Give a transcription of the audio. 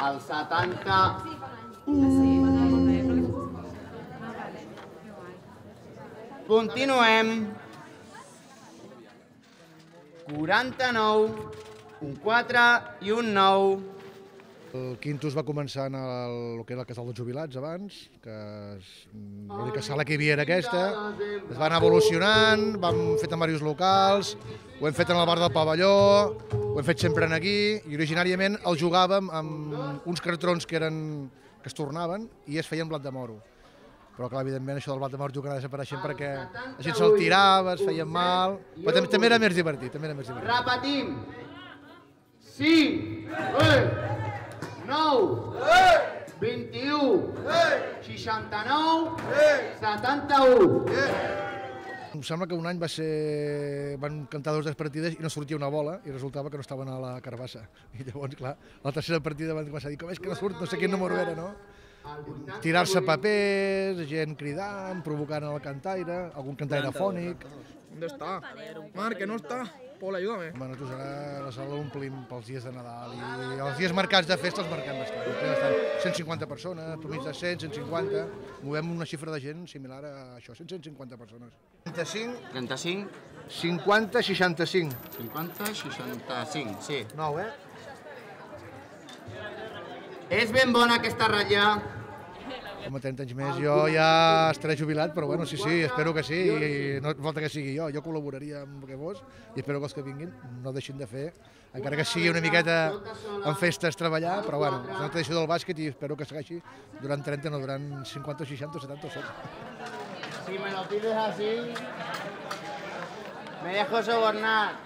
El 70. Continuem. 49, un 4 i un 9. El Quintus va començar en el que era el casal dels jubilats abans, que l'única sala que hi havia era aquesta, es va anar evolucionant, vam fet en diversos locals, ho hem fet en el bar del pavelló, ho hem fet sempre aquí, i originàriament el jugàvem amb uns cartrons que es tornaven i es feien blat de moro. Però clar, evidentment això del blat de moro que anava desapareixent perquè la gent se'l tirava, es feien mal, però també era més divertit, Repetim. 5, 9, 21, 69, 71. Em sembla que un any van cantar dues partides i no sortia una bola i resultava que no estaven a la carbassa. I llavors, clar, a la tercera partida van començar a dir com és que no surt, no sé quin número era, no? Tirar-se papers, gent cridant, provocant el cantaire, algun cantaire fònic. ¿Dónde está? Marc, que no está. Pol, ayúdame. Bueno, nosaltres ara la sala l'omplim pels dies de Nadal i els dies marcats de festa els marquem bastant. 150 persones, per mig de 100, 150, movem una xifra de gent similar a això, 150 persones. 35, 50, 65. 50, 65, sí. 9, És ben bona aquesta ratlla. Home, 30 anys més, jo ja estaré jubilat, però bueno, sí, espero que sí, i no falta que sigui jo col·laboraria amb el que fos, i espero que els que vinguin no deixin de fer, encara que sigui una miqueta en festes treballar, però bueno, és una tradició del bàsquet i espero que segueixi durant 30, no durant 50, 60, 70 o 100. Si me lo pides así, me dejo sobornar.